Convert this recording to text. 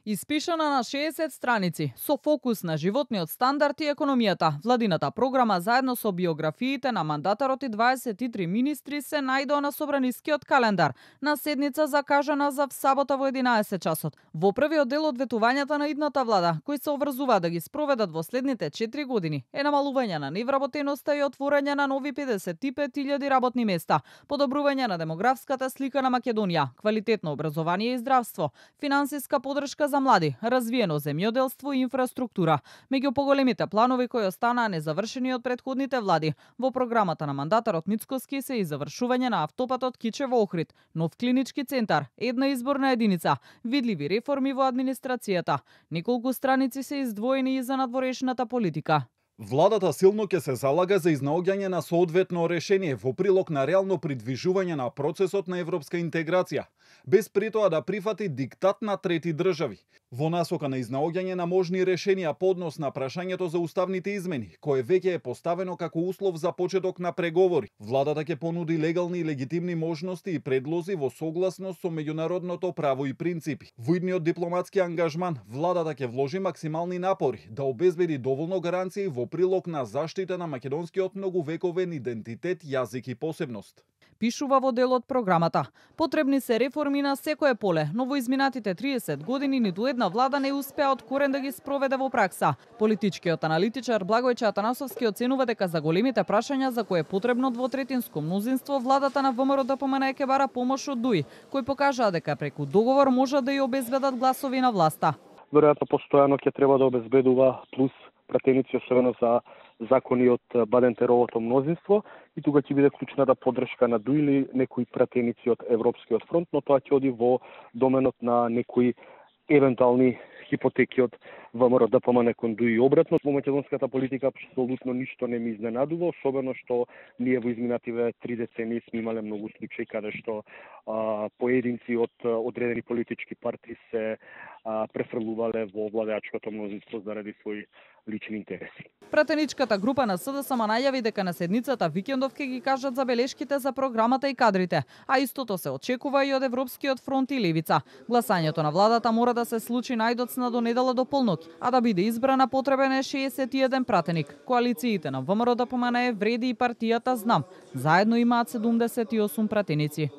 Испишана на 60 страници, со фокус на животниот стандард и економијата, владината програма заедно со биографиите на мандатарот и 23 министри се најдоа на собранискиот календар, на седница закажана за сабота во 11 часот. Во првиот дел од ветувањата на идната влада, кои се обврзуваат да ги спроведат во следните 4 години, е намалување на невработеноста и отворање на нови 55.000 работни места, подобрување на демографската слика на Македонија, квалитетно образование и здравство, финансиска подршка за млади, развиено земјоделство и инфраструктура. Меѓу поголемите планови кои останаа незавршени од претходните влади, во програмата на мандатарот Мицкоски се и завршување на автопатот Кичево-Охрид, нов клинички центар, една изборна единица, видливи реформи во администрацијата. Неколку страници се издвоени и за надворешната политика. Владата силно ќе се залага за изнаоѓање на соодветно решение во прилог на реално придвижување на процесот на европска интеграција, без при тоа да прифати диктат на трети држави, во насока на изнаоѓање на можни решенија по однос на прашањето за уставните измени, кое веќе е поставено како услов за почеток на преговори. Владата ќе понуди легални и легитимни можности и предлози во согласност со меѓународното право и принципи. Во идниот дипломатски ангажман, владата ќе вложи максимални напори да обезбеди доволно гаранции во прилог на заштита на македонскиот многувековен идентитет, јазик и посебност. Пишува во делот програмата. Потребни се реформи на секое поле, но во изминатите 30 години ниту една влада не успеа од корен да ги спроведе во пракса. Политичкиот аналитичар Благојче Атанасовски оценува дека за големите прашања за кои е потребно двотретинско мнозинство, владата на ВМРО-ДПМН ќе бара помош од ДУИ, кои покажаа дека преку договор можат да ја обезбедат гласови на власта. Веројатно постојано ќе треба да обезбедува плюс пратеници, особено за закони од Баден-Теровото мнозинство, и тука ќе биде клучната поддршка на ДУИ или некои пратеници од Европскиот фронт, но тоа ќе оди во доменот на некои евентуални хипотеки од ВМРО-ДПМН кон ДУИ и обратно. Во македонската политика апсолутно ништо не ми изненадува, особено што ние во изминативе 3 децении сме имале многу случаи каде што поединци од одредени политички партии се префрлувале во владеачкото мнозинство заради своји лични интереси. Пратеничката група на СДСМ најави дека на седницата викендов ќе ги кажат забелешките за програмата и кадрите, а истото се очекува и од Европскиот фронт и Левица. Гласањето на владата мора да се случи најдоцна до недела до полноќ, а да биде избрана потребен е 61 пратеник. Коалициите на ВМРО-ДПМН, Вреди и партијата Знам заедно имаат 78 пратеници.